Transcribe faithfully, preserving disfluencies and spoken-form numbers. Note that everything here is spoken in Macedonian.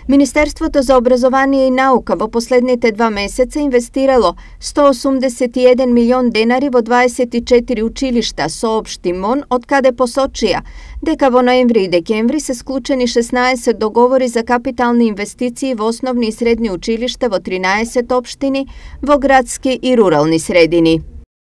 Министерството за образование и наука во последните два месеца инвестирало сто осумдесет и еден милион денари во дваесет и четири училишта, соопшти МОН, од каде посочија дека во ноември и декември се склучени шеснаесет договори за капитални инвестиции во основни и средни училишта во тринаесет општини во градски и рурални средини.